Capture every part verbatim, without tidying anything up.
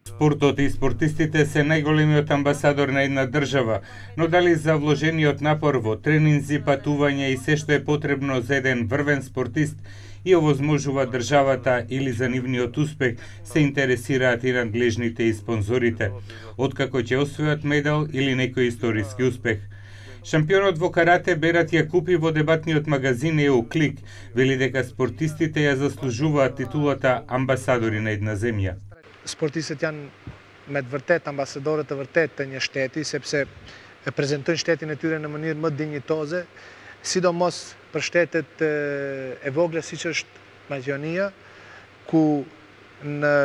Спортот и спортистите се најголемиот амбасадор на една држава, но дали за вложениот напор во тренинзи, патување и се што е потребно за еден врвен спортист и овозможува државата или за нивниот успех, се интересираат и надлежните и спонзорите, откако ќе освојат медал или некој историски успех. Шампионот во карате Берат Јакупи во дебатниот магазин EuClick вели дека спортистите ја заслужуваат титулата амбасадори на една земја. Sportistët janë me të vërtet ambasadorët e vërtet të një shteti, sepse e prezantojnë shtetin e tyre në mënyrë më dinjitoze, sidomos për shtetet e vogla siç është Maqedonia, ku në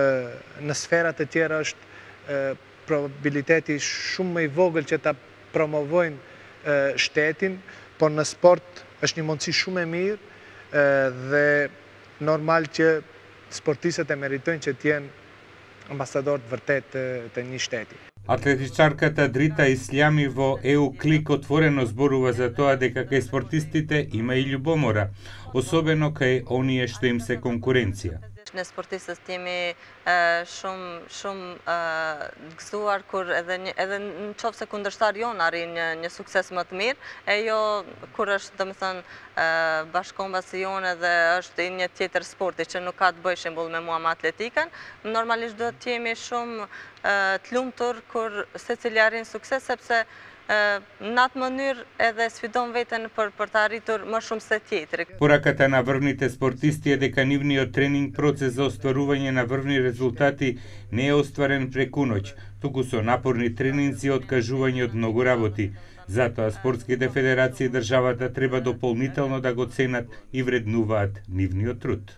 në sferat e tjera është probabiliteti shumë më i vogël që ta promovojnë shtetin, por në sport është një mundësi shumë e mirë dhe normal që sportistët e meritojnë që të jenë амбасадор вртет të një shteti. Атлетичарката Дрита Ислјами во EuClick отворено зборува за тоа дека кај спортистите има и љубомора, особено кај оние што им се конкуренција. Ne sportistët jemi shumë shumë gëzuar kur edhe një, edhe në qoftë se kundërshtar jon arrin një, një sukses më të mirë, e jo kur është domethënë bashkombasi jonë dhe është një tjetër sporti që nuk ka të bëjë shembull me mua me atletikën, normalisht do të jemi shumë të lumtur kur secili arrin sukses sepse në atë mënyrë edhe sfidon veten për për të arritur më shumë se tjetri. Пораката на врвните спортисти е дека нивниот тренинг процес за остварување на врвни резултати не е остварен преку ноќ, туку со напорни тренинзи и откажување од многу работи. Затоа спортските федерации и државата треба дополнително да го ценат и вреднуваат нивниот труд.